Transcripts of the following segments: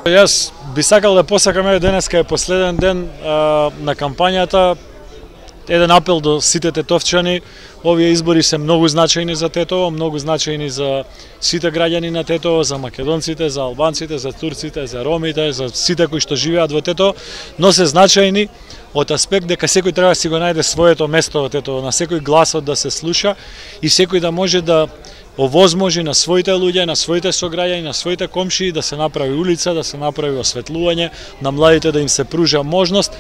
Јас би сакал да посакам, денеска е последен ден на кампањата. Еден апел до сите тетовчани. Овие избори се многу значајни за Тетово, многу значајни за сите граѓани на Тетово, за македонците, за албанците, за турците, за ромите, за сите кои што живеат во Тетово, но се значајни од аспект дека секој треба да си го најде своето место во Тетово, на секој гласот да се слуша и секој да може да овозможи на своите луѓе, на своите сограѓани, на своите комшии да се направи улица, да се направи осветлување, на младите да им се пружа можност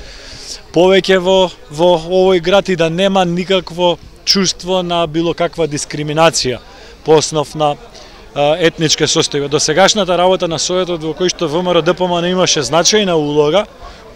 повеќе во овој град и да нема никакво чувство на било каква дискриминација по основ на етничке состојба. Досегашната работа на Советот во кој што ВМРО-ДПМН имаше значајна улога,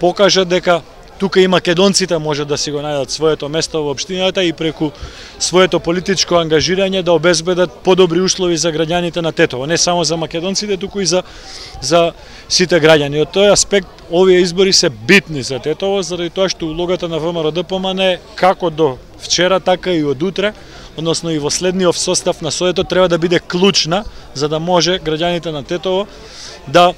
покажа дека тука и македонците може да си го најдат своето место во општината и преку своето политичко ангажирање да обезбедат подобри услови за граѓаните на Тетово, не само за македонците, туку и за сите граѓани. Од тој аспект овие избори се битни за Тетово, заради тоа што улогата на ВМРО-ДПМН е како до вчера, така и од утре, односно и во следниот состав на Советот треба да биде клучна за да може граѓаните на Тетово да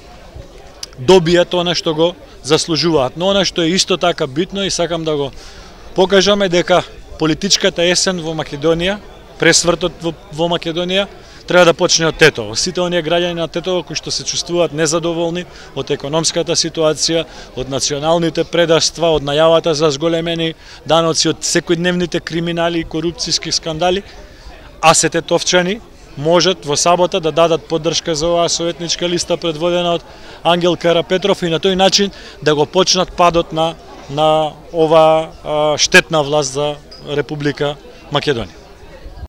добијат она што го заслужуваат. Но она што е исто така битно и сакам да го покажаме дека политичката есен во Македонија, пресвртот во Македонија треба да почне од Тетово. Сите оние граѓани на Тетово кои што се чувствуваат незадоволни од економската ситуација, од националните предавства, од најавата за зголемени даноци, од секојдневните криминали и корупцијски скандали, а се тетовчани можат во сабота да дадат поддршка за оваа советничка листа предводена од Ангел Карапетров и на тој начин да го почнат падот на оваа штетна власт за Република Македонија.